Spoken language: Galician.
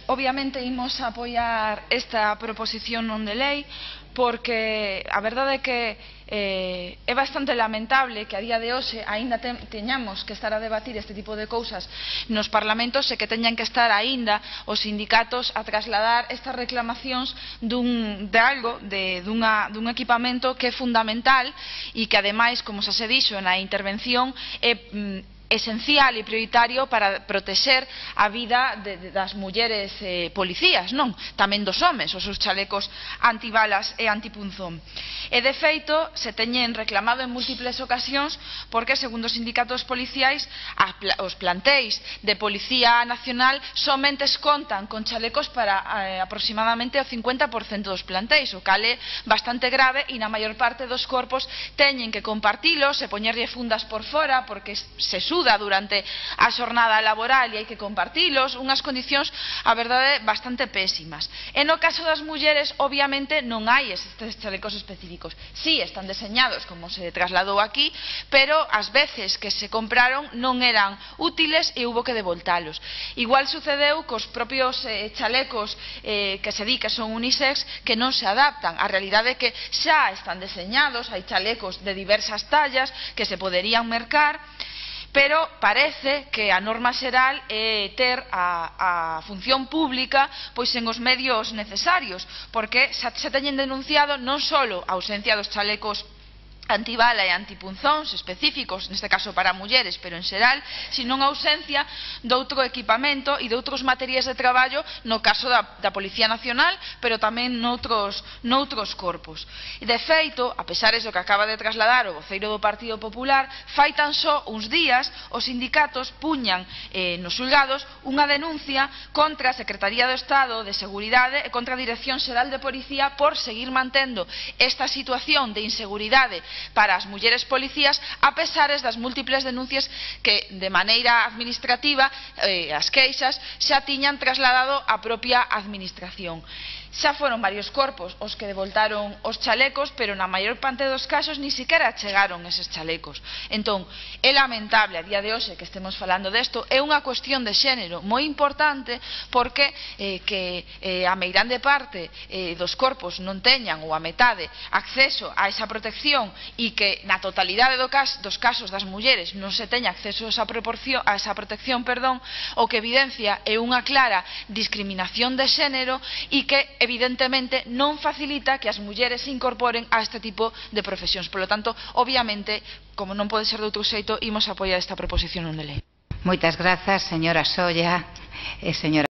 Obviamente imos apoiar esta proposición non de lei porque a verdade é que é bastante lamentable que a día de hoxe aínda teñamos que estar a debatir este tipo de cousas nos parlamentos e que teñan que estar aínda os sindicatos a trasladar estas reclamacións dun equipamento que é fundamental e que ademais, como xa se dixo na intervención, é esencial e prioritario para protexer a vida das mulleres policías, non? Tamén dos homes, os seus chalecos antibalas e antipunzón. E de feito, se teñen reclamado en múltiples ocasións porque, segundo os sindicatos policiais, os plantéis de Policía Nacional somente contan con chalecos para aproximadamente o 50% dos plantéis, o cal é bastante grave e na maior parte dos corpos teñen que compartilos e poñerlle fundas por fora porque se durante a xornada laboral e hai que compartilos, unhas condicións, a verdade, bastante pésimas. E no caso das mulleres, obviamente, non hai estes chalecos específicos. Sí, están deseñados, como se trasladou aquí, pero ás veces que se compraron non eran útiles e hubo que devoltalos. Igual sucedeu cos propios chalecos que se di que son unisex que non se adaptan. A realidade é que xa están deseñados, hai chalecos de diversas tallas que se poderían mercar, pero parece que a norma xeral é ter a función pública pois en os medios necesarios, porque se teñen denunciado non só a ausencia dos chalecos antibala e antipunzóns específicos, neste caso para mulleres, pero en xeral, sino a ausencia doutro equipamento e doutros materiais de traballo no caso da Policía Nacional, pero tamén noutros corpos. De feito, a pesar do que acaba de trasladar o voceiro do Partido Popular, fai tan só uns días os sindicatos puñan nos xulgados unha denuncia contra a Secretaría do Estado de Seguridade e contra a Dirección Xeral de Policía por seguir mantendo esta situación de inseguridade para as mulleres policías a pesares das múltiples denuncias que de maneira administrativa as queixas xa tiñan trasladado á propia administración. Xa foron varios corpos os que devoltaron os chalecos, pero na maior parte dos casos ni siquiera chegaron eses chalecos. Entón, é lamentable a día de hoxe que estemos falando desto, é unha cuestión de xénero moi importante porque que a meirande parte dos corpos non teñan ou a metade acceso a esa protección e que na totalidade dos casos das mulleres non se teña acceso a esa protección, o que evidencia é unha clara discriminación de xénero e que evidentemente non facilita que as mulleres se incorporen a este tipo de profesións. Por lo tanto, obviamente, como non pode ser de outro xeito, imos apoiar esta proposición non de lei. Moitas grazas, señora Solla e señora